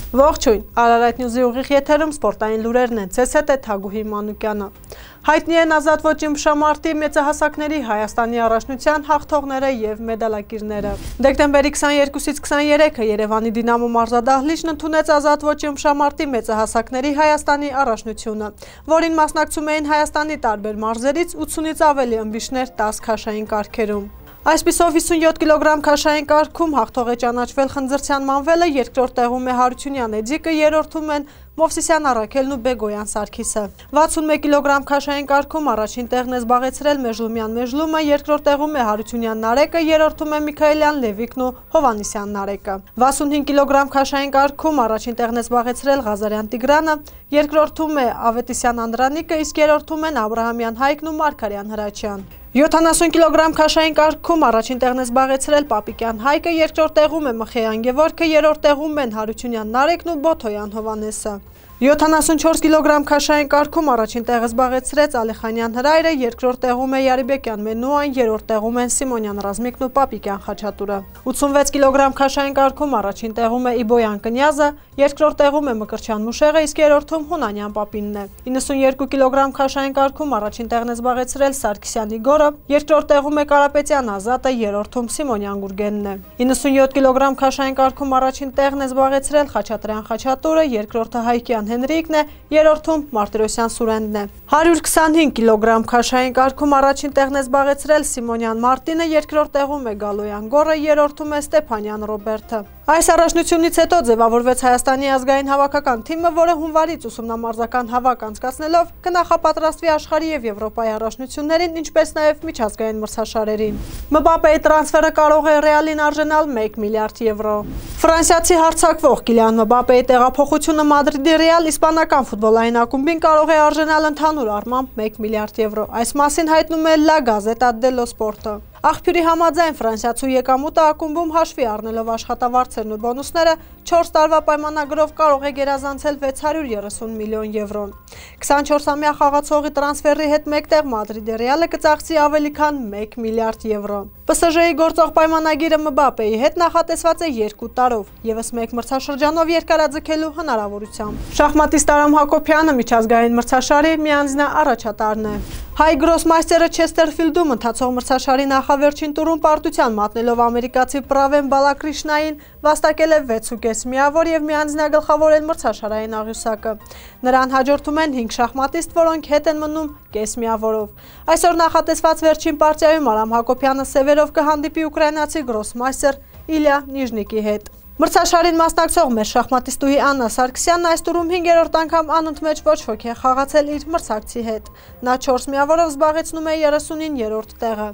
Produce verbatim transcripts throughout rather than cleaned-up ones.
Ողջույն, Արարատ Նյուզի ուղիղ եթերում սպորտային լուրերն են, ցես հետ է Թագուհի Մանուկյանը։ Հայտնի են ազատ ոճի ըմբշամարտի մեծահասակների Հայաստանի առաջնության հաղթողները եւ մեդալակիրները։ Դեկտեմբերի քսաներկուսից քսաներեքը Երևանի Դինամո մարզադահլիճն ընդունեց ազատ ոճի ըմբշամարտի մեծահասակների Հայաստանի առաջնությունը, որին մասնակցում էին Հայաստանի տարբեր մարզերից ութսունից ավելի ըմբիշներ տասը քաշային կարգերում։ Այսպիսով հիսունյոթ կիլոգրամ քաշային կարգում հաղթող է ճանաչվել Խնձրցյան Մանվելը, երկրորդ տեղում է Հարությունյան Էդիկը, երրորդում են Մովսիսյան Առաքելն ու Բեգոյան Սարգիսը։ վաթսունմեկ կիլոգրամ քաշային կարգում առաջին տեղն է զբաղեցրել Մեժլումյան Մեժլումը, երկրորդ տեղում է Հարությունյան Նարեկը, երրորդում է Միքայելյան Լևիկն ու Հովանիսյան Նարեկը։ վաթսունհինգ կիլոգրամ քաշային կարգում առաջին տեղն է զբաղեցրել Ղազարյան Տիգրանը, երկրորդում է Ավետիսյան Անդրանիկը, իսկ երրորդում են Աբրահամյան Հայկն ու Մարգարյան Հրաչյան։ յոթանասուն կիլոգրամ քաշային կարգում առաջին տեղն է զբաղեցրել Պապիկյան Հայկը, երկրորդ տեղում է Մխեյան Գևորգը, երրորդ տեղում են Հարությունյան Նարեկն ու Բոթոյան Հովանեսը։ յոթանասունչորս կիլոգրամ քաշային կարգում առաջին տեղը զբաղեցրեց Ալիխանյան Հրայրը, երկրորդ տեղում է Յարիբեկյան Մենուան, երրորդ տեղում են Սիմոնյան Ռազմիկն ու Պապիկյան Խաչատուրը։ ութսունվեց կիլոգրամ քաշային կարգում առաջին տեղում է Իբոյան Կնյազը, երկրորդ տեղում է Մկրտչյան Մուշեղը, իսկ երրորդում Հունանյան Պապինն է։ իննսունյոթ կիլոգրամ քաշային կարգում առաջին տեղն է զբաղեցրել Սարգսյան Իգորը, երկրորդ տեղում է Կարապետյան Ազատը, երրորդում Սիմոնյան Գուրգենն է։ իննսունյոթ կիլոգրամ քաշային կարգում առաջին տեղն է զբաղեցրել Խաչատրյան Խաչատուրը, երկրորդը Հայկյան Հենրիկն է, երրորդում Մարտիրոսյան Սուրենն է։ հարյուր քսանհինգ կիլոգրամ քաշային կարգում առաջին տեղն է զբաղեցրել Սիմոնյան Մարտինը, երկրորդ տեղում է Գալոյան Գորը, երրորդում է Ստեփանյան Ռոբերտը։ Այս առաջնությունից հետո ձևավորվեց Հայաստանի ազգային հավաքական թիմը, որը հունվարից ուսումնամարզական հավաք անցկացնելով կնախապատրաստվի աշխարհի եւ Եվրոպայի առաջնություններին, ինչպես նաեւ միջազգային մրցաշարերին։ Մբապեի տրանսֆերը կարող է Ռեալին արժանալ մեկ միլիարդ եվրո։ Ֆրանսիացի հարձակվող Կիլիան Մբապեի տեղափոխությունը Մադրիդի Ռեալ իսպանական ֆուտբոլային ակումբին կարող է արժանալ ընդհանուր առմամբ մեկ միլիարդ եվրո։ Այս մասին հայտնում է La Gazzetta dello Sport։ Աղբյուրի համաձայն ֆրանսիացու եկամուտը ակումբում հաշվի առնելով աշխատավարձերն ու բոնուսները չորս տարվա պայմանագրով կարող է գերազանցել վեց հարյուր երեսուն միլիոն եվրոն։ քսանչորսամյա խաղացողի տրանսֆերի հետ մեկտեղ Մադրիդի Ռեալը կծախսի ավելի քան մեկ միլիարդ եվրո։ Պ Ս Ժ-ի գործող պայմանագիրը Մբապեի հետ նախատեսված է երկու տարով, ևս մեկ մրցաշրջանով երկարաձգելու հնարավորությամբ։ Շախմատիստ Արամ Հակոբյանը միջազգային մրցաշարի միանձնյա առաջատարն է։ Հայ գրոսմայստերը Չեսթերֆիլդում ընթացող մրցաշարի նախավերջին տուրում պարտության մատնելով ամերիկացի Պրավեն Բալակրիշնային վաստակել է վեցուկես միավոր եւ միանձնյա գլխավորել մրցաշարային աղյուսակը։ Նրան հաջորդում են հինգ շախմատիստ, որոնք հետ են մնում կես միավորով։ Այսօր նախատեսված վերջին պարտիայում Արամ Հակոբյանը սևերով կհանդիպի ուկրաինացի գրոսմայստեր Իլյա Նիժնիկի հետ։ Մրցաշարին մասնակցող մեր շախմատիստուհի Աննա Սարգսյանն այս տուրում հինգերորդ անգամ անընդմեջ ոչ ոք է խաղացել իր մրցակցի հետ։ Նա չորս միավորով զբաղեցնում է երեսունիններորդ տեղը։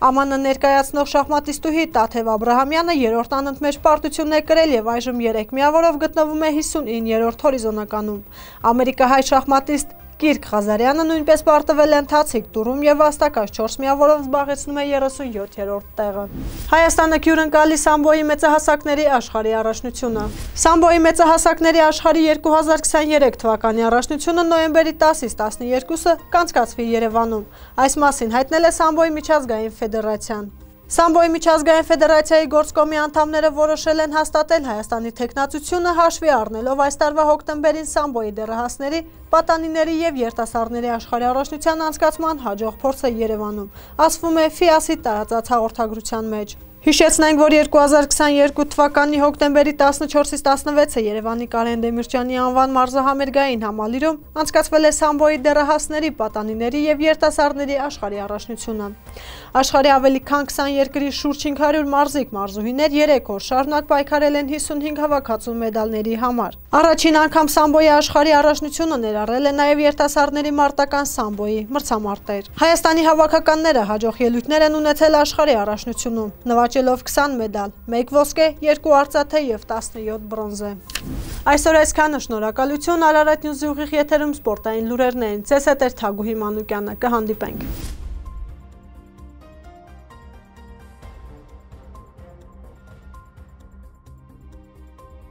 Ա Մ Ն ներկայացնող շախմատիստուհի Տաթև Աբրահամյանը երրորդ անընդմեջ պարտություն է կրել եւ այժմ երեք միավորով գտնվում է հիսունիններորդ հորիզոնականում։ Ամերիկահայ շախմատիստ Կիրք Ղազարյանը նույնպես պարտվել է ընթացիկ տուրում եւ վաստակած չորս միավորով զբաղեցնում է երեսունյոթերորդ տեղը։ Հայաստանը հյուրընկալի սամբոյի մեծահասակների աշխարհի առաջնությունը։ Սամբոյի մեծահասակների աշխարհի երկու հազար քսաներեք թվականի առաջնությունը նոյեմբերի տասից տասներկուսը կանցկացվի Երևանում։ Այս մասին հայտնել է Սամբոյի միջազգային ֆեդերացիան։ Սամբոյի միջազգային ֆեդերացիայի գործկոմի անդամները որոշել են հաստատել Հայաստանի թեկնածությունը հաշվի առնելով այս տարվա հոկտեմբերին Սամբոյի դեռահասների, պատանիների եւ երիտասարդների աշխարհի առաջնության անցկացման հաջող փորձը Երևանում, ասվում է Ֆ I A S-ի տարածած հաղորդագրության մեջ։ Հիշեցնենք, որ երկու հազար քսաներկու թվականի հոկտեմբերի տասնչորսից տասնվեցը Երևանի Կարեն Դեմիրճյանի անվան մարզահամերգային համալիրում անցկացվել է Սամբոյի դեռահասների, պատանիների եւ երիտասարդների աշխարհի առաջնությունը։ Աշխարհի ավելի քան քսան երկրի շուրջ հինգ հարյուր մարզիկ մարզուհիներ երեք օր շարունակ պայքարել են հիսունհինգ հավաքածու մեդալների համար։ Առաջին անգամ Սամբոյի աշխարհի առաջնությունը ներառել է նաեւ երիտասարդների մարտական Սամբոյի մրցամարտեր։ Հայաստանի հավաքականները հաջող ելույթներ են ունեցել աշխարհի առաջնությունում, նվաճելով քսան մեդալ, մեկ ոսկե, երկու արծաթե եւ տասնյոթ բրոնզե։ Այսօր այսքանը, շնորհակալություն, Արարատ Նյուզի ուղիղ եթերում սպորտային լուրերն էին։ Ցես հետ էր Թագուհի Մանուկյանը, կհանդիպենք։